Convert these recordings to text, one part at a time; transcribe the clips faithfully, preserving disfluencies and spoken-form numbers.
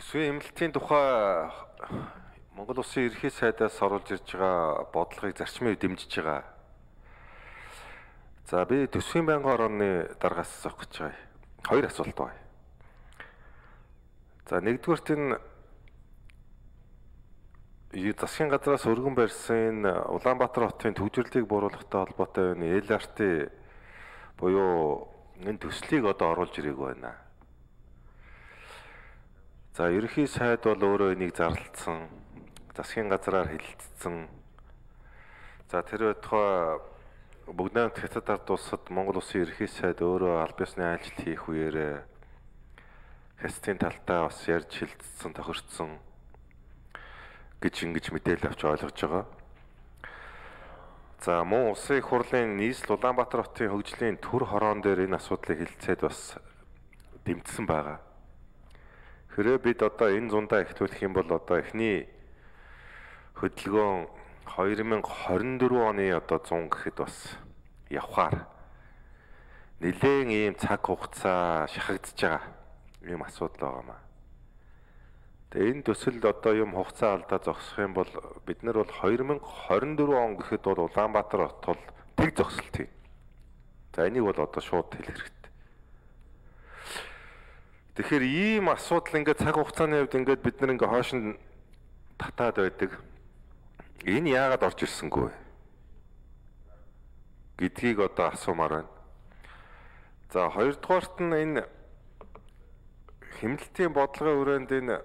Төсвийн эмнэлтийн тухай Монгол Улсын ерөнхий сайдаас оруулж ирж байгаа бодлогыг зарчмын үед дэмжиж байгаа. За би төсвийн байнгын орооны дараагаас асуух гэж байгаа. Хоёр асуулт байна. За нэгдүгээрт энэ засгийн газраас өргөн барьсан Улаанбаатар хотын төвжирлийг бууруулахтай холбоотой энэ эл ар ти буюу энэ төслийг одоо оруулж ирэх байна. За ерөнхий сайд бол өөрөө энийг зарлалцсан, засгийн газраар хэлэлцсэн. За тэр байтугай бүгд найрамд хятад ард улсад Монгол Улсын ерөнхий сайд өөрөө аль биесны ажил хийх үеэр хятадын талтай бас ярьж хэлэлцсэн, тохирцсон гэж ингэж мэдээлэл авч ойлгож байгаа. За мөн улсын их хурлын нийслэл Улаанбаатар хотын хөгжлийн төр хороон дээр энэ асуудлыг хэлэлцээд бас дэмжсэн байгаа. Хэрвээ бид одоо энэ зундаа ихтүүлэх юм бол одоо эхний хөдөлгөөн две тысячи двадцать четыре оны одоо цун гэхэд бас явхаар нэлээд ийм цаг хугацаа шахагдж байгаа ийм асуудал байгаа маа. Тэгээ энэ төсөлд одоо юм хугацаа алдаа зогсох юм бол бид нар бол две тысячи двадцать четыре он гэхэд бол Улаанбаатар хот бол тэг зогсолт хий. За энийг бол одоо шууд хэлэх хэрэгтэй. Тэгэхээр ийм асуудал ингээд цаг хугацааны хувьд ингээд бид нар ингээд хойш нь татаад байдаг. Энэ яагаад орж ирсэнгүй гэдгийг одоо асуумаар байна. За хоёрдугаарт нь энэ хэмнэлтийн бодлогын хүрээнд энэ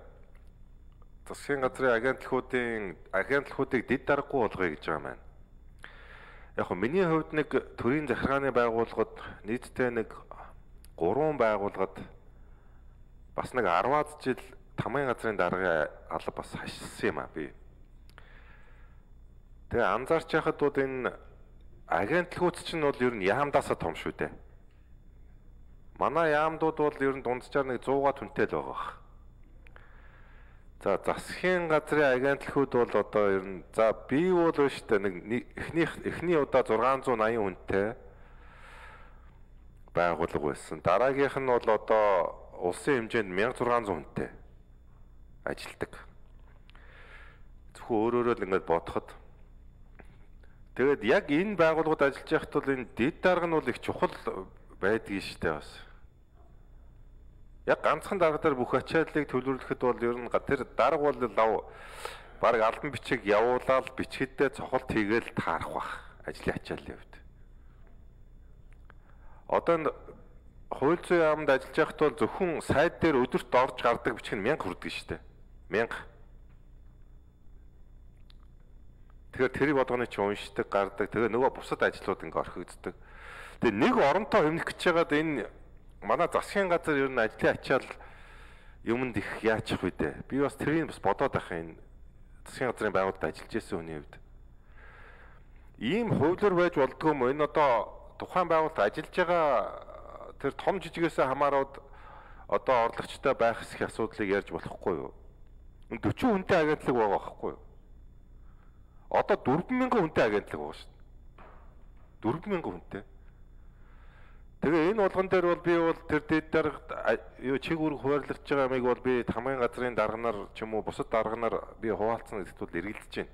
засгийн газрын агентлагуудын агентлагуудыг дэд даргагүй болгоё гэж байгаа маань. Яг хөө миний хувьд нэг төрийн захиргааны байгууллагад нийтдээ нэг гурван байгууллагад бас нэг арваад жил тамгын газрын даргын алба бас хашилсан юм а би. Тэгээ анзаарч яхад бол энэ агентлагууд чинь бол ер нь яамдаасаа том шүү дээ. Манай яамдууд бол ер нь дунджаар нэг сто түнтэй л байгаа. За засгийн газрын агентлагууд бол одоо ер нь за би бол шүү дээ нэг эхний эхний удаа сix eighty хүнтэй байгуулга байсан. Дараагийнх нь бол одоо улсын хэмжээнд sixteen hundred хүнтэй ажилдаг. Зөвхөн өөрөөрөө л ингэж бодоход. Тэгээд яг энэ байгууллагууд ажиллаж байхад бол энэ дэд дарга нь бол их чухал байдгийг штэ бас. Яг ганцхан дарга дээр бүх ачааллыг төлөвлөхөд бол ер нь тэр дарга бол лав баг албан бичиг явуулаад бичгэдээ цохолт хийгээл таарах бах ажлын ачааллын хувьд. Одоо хууль зүйн яамд ажиллаж байхад бол зөвхөн сайд дээр өдөрт орж гардаг бичиг нь one thousand хүрдэг шүү дээ. one thousand. Тэгэхээр тэрийг бодгоны чи уншдаг, гардаг. Тэгээ нөгөө бусад ажлууд ингээ орхигддаг. Тэгээ нэг оронтой хэмнэх гэж байгаад энэ манай засгийн газар ер нь ажлын ачаал юмд их яачих вэ дээ. Би бас тэрийг бас бодоод байх энэ засгийн газрын байгууллагад ажиллаж байсан хүний хувьд. Ийм хуулиар байж болдгоо юм. Энэ одоо тухайн байгууллагад ажиллаж байгаа тэр том жижигээс хамаарууд одоо орлогчтой байх хэсэг асуудлыг ярьж болохгүй юу? forty хүнтэй агентлаг байгаа байхгүй юу? Одоо four thousand хүнтэй агентлаг байгаа шүү дээ. four thousand хүнтэй. Тэгээ энэ болгон дээр бол би бол тэр дэд дарга юу чиг үүрэг хуваарлаж байгаа юмыг бол би тамгын газрын дарганаар ч юм уу бусад дарганаар би хуваалцсан гэдэгт бол эргэлдэж байна.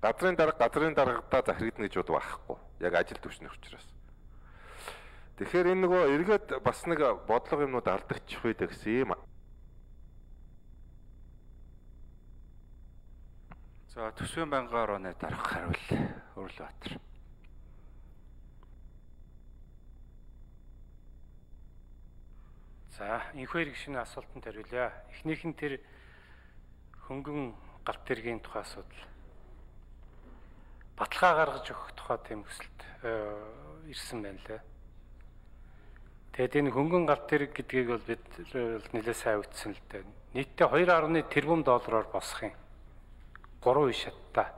Газрын дарга газрын даргадаа захирагдана гэж бод байхгүй. Яг ажил төвчнөх учраас. Тэгэхээр энэ нөгөө эргээд бас нэг бодлого юмнууд алдагдчих үед гэсэн юм. За төсвийн байнгын орооны дарга хариул Өрлөбаатар. За энэхүү хэрэг шинэ асуултанд хариулъя. Эхнийх нь тэр хөнгөн галт тэргийн тухай асуудал. Баталгаа гаргаж өгөх тухай тийм хүсэлт ирсэн байна лээ. Тэгээд энэ хөнгөн галт тэрэг гэдгийг бол бид нэлээд сайн үтсэн л дээ. Нийтдээ two тэрбум доллараар босох юм. Гурван үе шаттай.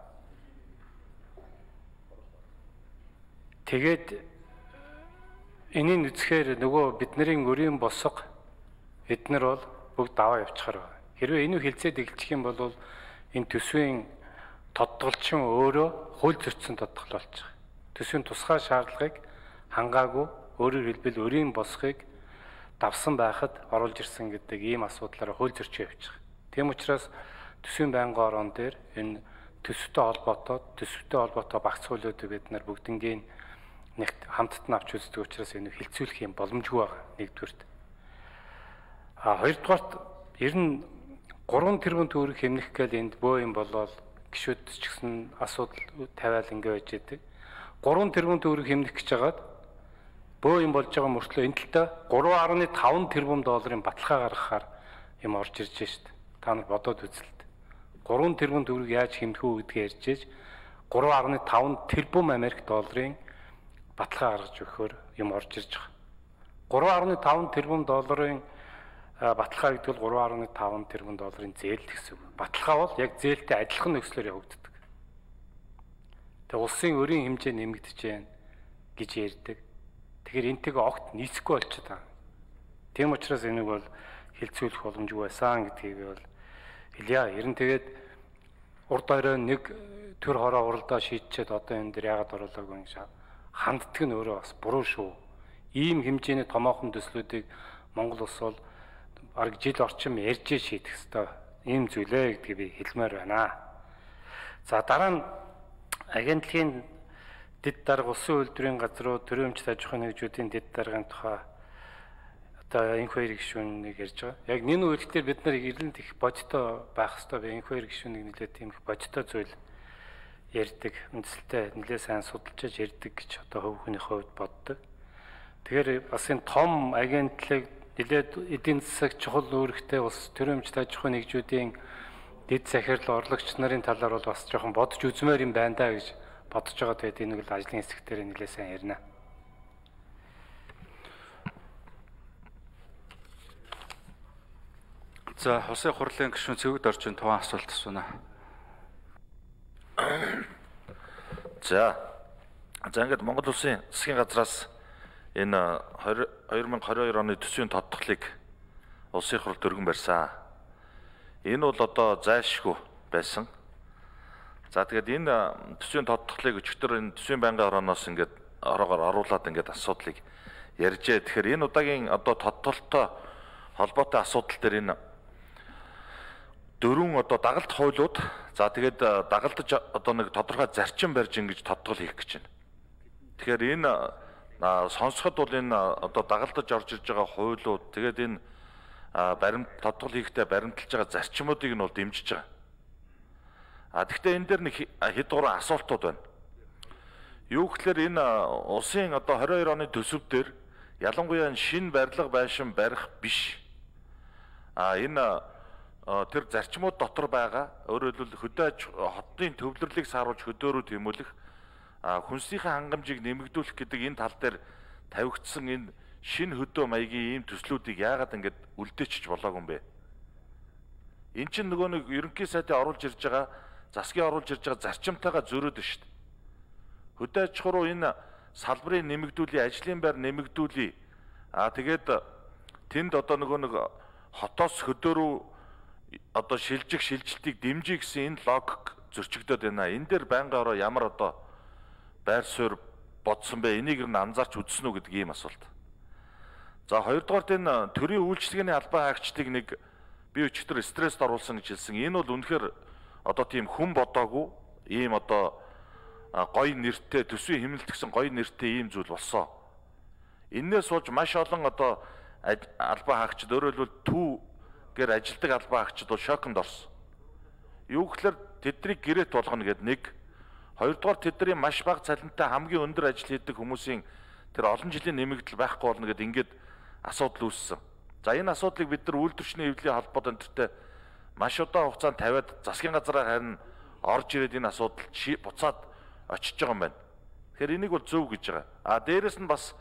Тэгээд энийг үзэхээр нөгөө бидний өрийн босго эднэр бол бүгд даваа явчихаар байна. Хэрвээ энэ хилцээд эхэлчих юм бол энэ төсвийн тодтолчин өөрөө хууль зөрчсөн тодтол болчих. Төсвийн тусгай шаардлагыг хангаагүй өөрөөр хэлбэл өрийн босгыг давсан байхад оруулж ирсэн гэдэг ийм асуудлаараа хууль зөрчил явчих. Тийм учраас төсвийн байнгын орон дээр энэ төсөвтэй холбоотой төсөвтэй холбоотой багц хуулиудыг бид нар бүгднгийн нэгт хамтд нь авч үздэг учраас энэ хилцүүлэх юм боломжгүй байгаа нэгдүгürt. А хоёрдугаарт ер нь гурван тэрбум төгрөг хэмнэх гээл энд бөө юм болоод гişүүд ч гэсэн асуудал тавиал ингэ байж идэг. гурван тэрбум төгрөг хэмнэх гэж хагаад бөө юм болж байгаа мөртлөө энэ талдаа гурван гаруй таван тэрбум долларын баталгаа гаргахаар юм орж ирж шít. Та нар бодоод үзэлт. гурван тэрбум төгрөг яаж хэмнэх үү гэдгээ ярьж ээж гурван гаруй таван тэрбум Америк долларын баталгаа гаргаж өгөхөөр юм орж ирж байгаа. гурван гаруй таван тэрбум долларын баталгаа гэдэг нь гурван гаруй таван тэрбум долларын зээл гэсэн үг. Баталгаа бол яг зээлтэй адилхан нөхцлөөр явагддаг. Тэгээ улсын өрийн хэмжээ нэмэгдэж байна гэж ярьдаг. Тэгэхээр энтэйг огт нийцэхгүй болчиход байгаа. Тийм учраас энийг бол хилцүүлэх боломжгүй байсан гэдгийг би бол хэлье. Ер нь тэгээд урд орой нэг төр хороо уралдаа шийдчихэд одоо энэ дэр яагаад оруулаагүй юм шиг ханддаг нь өөрөө бас буруу шүү. Ийм хэмжээний томоохон төслүүдийг Монгол улс бол бараг жил орчим ярьж шийдэх ёстой ийм зүйлээ гэдгийг би хэлмээр байна. За дараа нь агентлагийн дэд дарга улсын үйлдвэрийн газруу төрийн өмчт аж ахуйн нэгжүүдийн дэд даргын тухай одоо энх хоёр гишүүнийг ярьж байгаа. Яг энэ үйлдэлээр бид нар ирлэнд их бодтой байх ёстой. Би энх хоёр гишүүнийг нэлээд тийм их бодтой зүйл ярьдаг, үндсэлтэй нэлээд сайн судалж ярьдаг гэж одоо хөв хүний хувьд боддог. Тэгэхээр бас энэ том агентлаг нэлээд эдийн засаг чухал үүрэгтэй улс төрийн өмчт аж ахуйн нэгжүүдийн дэд захирал орлогч нарын талаар бол бас жоохон бодож үзмээр юм байна да гэж бодож байгаа. Тэгээд энэ бол ажлын хэсэг дээр нэлээд сайн ярина. За, Улсын хурлын гишүүн Цэвэгд орчин таван асуулт асууна. За. За ингээд Монгол Улсын засгийн газраас энэ хоёр мянга хорин хоёр оны төсвийн тодтголыг улсын хурл дөргөн барьсан. Энэ бол одоо зайлшгүй байсан. За тэгээд энэ төсвийн тодтголыг өчигдөр энэ төсвийн байнгын орооноос ингээд ороогоор оруулаад ингээд асуудлыг ярьжээ. Тэгэхээр энэ удаагийн одоо тодтголтой холбоотой асуудал дээр энэ дөрвөн одоо дагалт хуулиуд за тэгээд дагалдаж одоо нэг тодорхой зарчим барьж ингэж тодтгол хийх гэж байна. Тэгэхээр энэ сонсоход бол энэ одоо дагалдаж орж ирж байгаа хуулиуд тэгээд энэ баримт тодтгол хийхдээ баримталж байгаа зарчмуудыг нь бол дэмжиж байгаа. А тэгвэл энэ дээр нэг хэд гурван асуултууд байна. Юу гэхээр энэ улсын одоо хорин хоёр оны төсөв дээр ялангуяа шинэ барилга байшин барих биш. А энэ тэр зарчмууд дотор байгаа өөрөөр хэлбэл хөдөө аж хотын төвлөрлийг сааруулж хөдөөрөө тэмүүлэх хүнсийнхээ хангамжийг нэмэгдүүлэх гэдэг энэ тал дээр тавигдсан энэ шинэ хөдөө маягийн ийм төслүүдийг яагаад ингэж үлдээчих болоогүй юм бэ? Эн чинь нөгөө нэг ерөнхий сайдын оруулж ирж байгаа засгийн оруулж ирж байгаа зарчимтайгаа зөрөөд байна шүү дээ. Хөдөө аж ахуй руу энэ салбарыг нэмэгдүүлээ, ажлын байр нэмэгдүүлээ. Аа тэгээд тэнд одоо нөгөө нэг хотоос хөдөөрөө одоо шилжих шилжилтийг дэмжих гэсэн энэ логик зөрчигдөд байна. Энэ дээр байнгын ороо ямар одоо байр суурь бодсон бэ? Энийг нь анзаарч үзсэн үү гэдэг ийм асуулт. За хоёрдугаарт энэ төрийн үйлчлэгээний албан хаагчдыг нэг би өчтөр стресст оруулсан гэж хэлсэн. Энэ бол үнэхээр одоо тийм хүн бодоогүй ийм одоо гоё нэртэй төсвийн хэмнэлтгсэн гоё нэртэй ийм зүйл болсон. Иннээс сууж маш олон одоо албан хаагчид өөрөөр хэлбэл төв гэр ажилдаг албан хаагчид бол шоконд орсон. Юу гэхээр тэднийг гэрээт болгоно гэдэг нэг. Хоёрдугаар тэдний маш бага цалинтай хамгийн өндөр ажил хийдэг хүмүүсийн тэр олон жилийн нэмэгдэл байхгүй болно гэдэг ингээд асуудал үүссэн. За энэ асуудлыг бид нар үйлдвэрчний хэвлэлийн холбоод өнтертэй маш удаан хугацаанд тавиад засгийн газраар харин орж ирээд энэ асуудал буцаад очиж байгаа юм байна. Тэгэхээр энийг бол зөв гэж байгаа. А дээрэс нь бас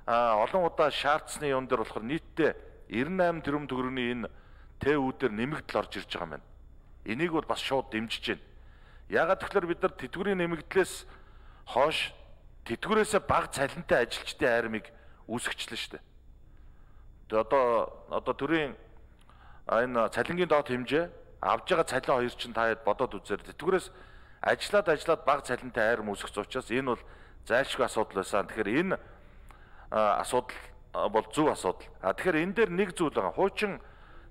олон удаа шаардсны юм дээр болохоор нийтдээ девяносто восемь тэрбум төгрөгийн энэ ТЭУ-дээр нэмэгдэл орж ирж байгаа юм байна. Энийг бол бас шууд дэмжиж байна. Яагаад тэгэхээр бид нар тэтгэврийн нэмэгдлээс хойш тэтгэврээсээ бага цалинтай ажилчдын айрмыг үүсгэжлээ шүү дээ. Тэгээ одоо одоо төрийн энэ цалингийн доод хэмжээ авж байгаа цалин хоёр чинь та хэд бодоод үзээр тэтгэврээс ажиллаад ажиллаад бага цалинтай айрм үүсгэж учраас энэ бол зайлшгүй асуудал байсан. Тэгэхээр энэ асуудал бол зөв асуудал. А тэгэхээр энэ дээр нэг зүйл байгаа. Хуучин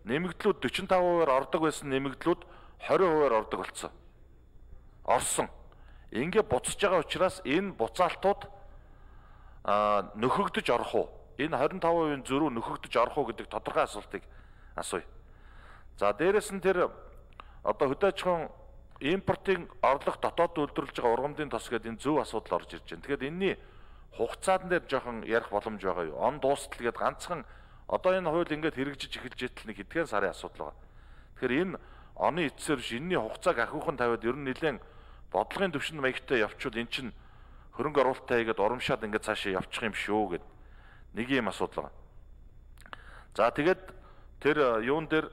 нэмэгдлүүд forty-five хувиар ордог байсан нэмэгдлүүд twenty хувиар ордог болсон. Орсон. Ингээ буцаж байгаа учраас энэ буцаалтууд а нөхөгдөж орох уу? Энэ twenty-five хувийн зөрүү нөхөгдөж орох уу гэдэг тодорхой асуултыг асууя. За дээрэс нь тэр одоо хөдөө аж ахуйн импортын орлого дотоод үйлдвэрлэж байгаа ургамлын тос гэдэг энэ зөв асуудал орж ирж байна. Тэгэхээр энэний хугацаан дээр жоохон ярих боломж байгаа юу? Он дуустал гэдэг ганцхан одоо энэ хууль ингээд хэрэгжиж эхэлж итэл нэг хэдхэн сарын асуудал байгаа. Тэгэхээр энэ оны эцсээр биш энэний хугацааг ахиухан тавиад ер нь нэлээд бодлогын төвшин маягтай явчвал эн чинь хөрөнгө оруулалтаа хийгээд урамшаад ингээд цаашаа явчих юм шүү гэд нэг юм асуудал байгаа. За тэгээд тэр юун дээр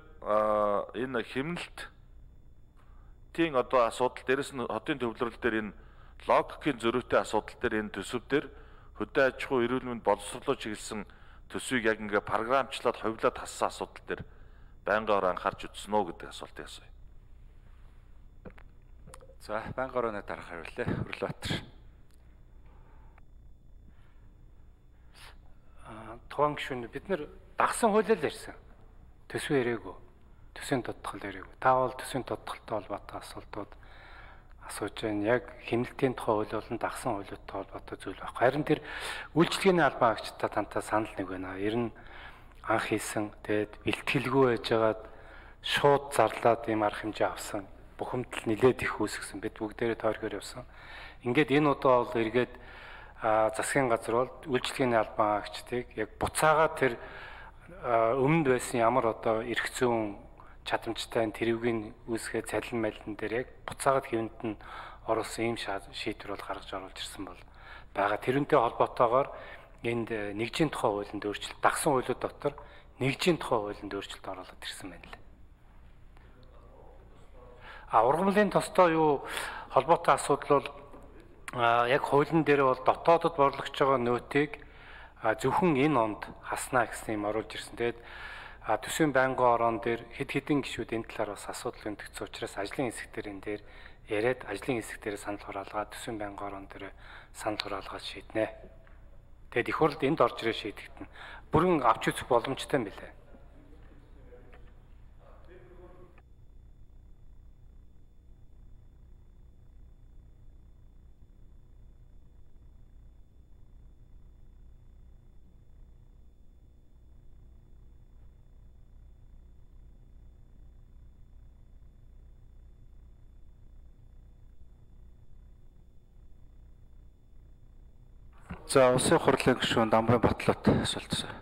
энэ хэмнэлт тийм одоо асуудал дээрэс нь хотын төвлөрөл дээр энэ логикийн зөрүүтэй асуудал дээр энэ төсөв дээр хөдөө аж ахуй эрүүл мэнд боловсруулалт чиглэсэн төсвийг яг ингээ програмчлаад хувьлаад хассан асуудал дээр байнгаараа анхаарч үзсэн үү гэдэг асуултыг асууя. За байнгаараа дараах хариуллаа. Өрлөбаатар. Аа тухайн гишүүн бид нар дагсан хуулиар ярьсан. Төсвөө ирээгүй. Төсвийн тодтгол ирээгүй. Та бол төсвийн тодтголтой холбоотой асуултууд асууж байна. Яг хэмнэлтийн тухай хууль болон дагсан хуулиудтай холбоотой зүйл байхгүй. Харин тэр үйлчлэгээний албан агчтай тантай санал нэг байна. Ер нь анх хийсэн тэгээд бэлтгэлгүй байжгаад шууд зарлаад ийм арга хэмжээ авсан. Бухимдал нилээд их үүсгэсэн. Бид бүгдээрээ тойргоор явсан. Ингээд энэ удаа бол эргээд засгийн газар бол үйлчлэгээний албан агчдыг яг буцаагаад тэр өмнөд байсан ямар одоо эрх зүйн чадамжтай тэрвгийн үүсгээ цалин малин дээр яг буцаагаад хэвэнд нь оруулсан ийм шийдвэр бол гаргаж оруулж ирсэн бол байгаа. Тэрнтэй холбоотойгоор энд нэгжийн тухай хуулинд өөрчлөлт, дагсан хуулиуд дотор нэгжийн тухай хуулинд өөрчлөлт оруулаад ирсэн байна лээ. А ургамлын тостой юу холбоотой асуудал бол яг хуулийн дээр бол дотоодод борлогч байгаа нөөтийг зөвхөн энэ онд хаснаа гэсэн юм оруулж ирсэн. Тэгээд төсвийн байнгын орон дээр хэд хэдэн гишүүд энэ талаар бас асуудал өндөгцсөн учраас ажлын хэсэг дээр энэ дээр яриад ажлын хэсэг дээр санал хураалгаа төсвийн байнгын орон дээр санал хураалгаад шийднэ. Тэгэд их хурлд энд орж ирээ шийдэгдэнэ. Бүрэн авч үзэх боломжтой юм билээ. За улсын хурлын гишүүн Дамбын Батлууд асуулт асууя.